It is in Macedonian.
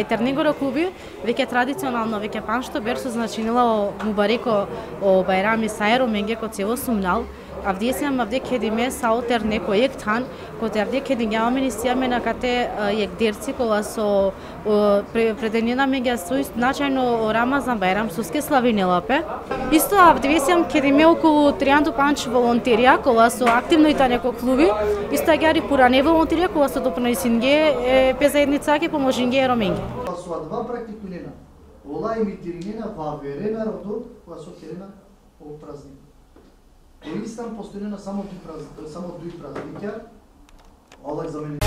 Тернигора клуби веќе традиционално веќе паншто берсо значинила мубареко о Байрами Сайро менге ко цево сумнал. Авдесиям авде кедиме саутер неко ектан, коте авде кедингява министијаме на кате ектдерци кола со преденена меѓа сој значајно Рамазан Байрам суске славинелапе. Исто авдесиям кедиме околу 300 панч волонтерија кола со активно итане неко клуби, исто агјари пуране волонтерија кола со допринесинге пе заедница ке поможинге роменге. Со два практикунена, ола имитиринена во веренарото која со керена о празник. Во Истан постојано само дуи празниќа, Аллах за мене.